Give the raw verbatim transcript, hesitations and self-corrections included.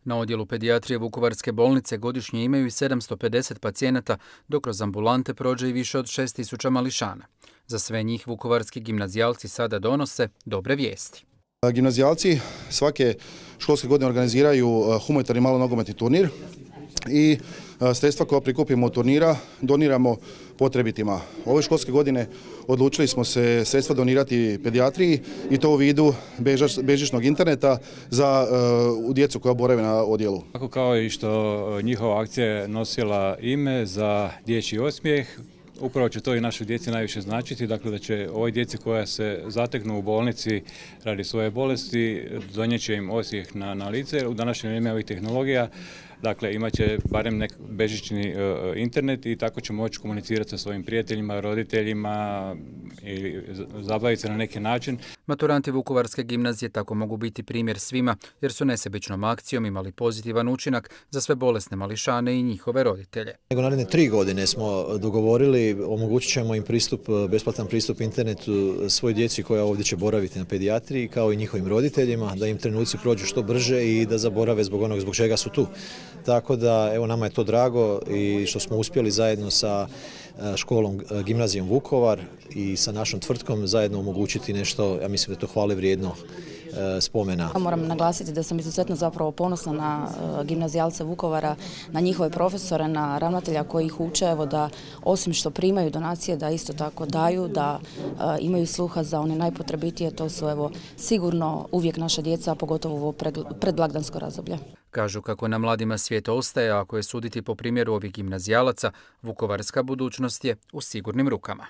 Na odjelu pedijatrije Vukovarske bolnice godišnje imaju i sedamsto pedeset pacijenata, dok kroz ambulante prođe i više od šest tisuća mališana. Za sve njih vukovarski gimnazijalci sada donose dobre vijesti. Gimnazijalci svake školske godine organiziraju humanitarni malonogometni turnir i sredstva koja prikupimo od turnira doniramo potrebitima. Ove školske godine odlučili smo se sredstva donirati pedijatriji i to u vidu bežičnog interneta za uh, djecu koja borave na odjelu. Tako kao i što njihova akcija je nosila ime za dječji osmijeh, upravo će to i našoj djeci najviše značiti, dakle da će ovoj djeci koja se zateknu u bolnici radi svoje bolesti donijet će im osmijeh na, na lice. U današnje vrijeme ovih tehnologija, dakle imat će barem nek bežični uh, internet i tako će moći komunicirati sa svojim prijateljima, roditeljima i zabaviti se na neki način. Maturanti Vukovarske gimnazije tako mogu biti primjer svima jer su nesebičnom akcijom imali pozitivan učinak za sve bolesne mališane i njihove roditelje. Nego naredne tri godine smo dogovorili, omogućit ćemo im pristup, besplatan pristup internetu svoj djeci koja ovdje će boraviti na pedijatriji kao i njihovim roditeljima, da im trenuci prođu što brže i da zaborave zbog onog zbog čega su tu. Tako da, evo, nama je to drago i što smo uspjeli zajedno sa školom Gimnazijom Vukovar i sa našom tvrtkom zajedno omogućiti nešto, ja mislim da je to hvale vrijedno spomena. Moram naglasiti da sam izuzetno zapravo ponosna na gimnazijalce Vukovara, na njihove profesore, na ravnatelja koji ih uče, evo, da osim što primaju donacije, da isto tako daju, da imaju sluha za one najpotrebitije, to su evo sigurno uvijek naša djeca, a pogotovo ovo predblagdansko razdoblje. Kažu kako na mladima svijet ostaje, a ako je suditi po primjeru ovih gimnazijalaca, vukovarska budućnost je u sigurnim rukama.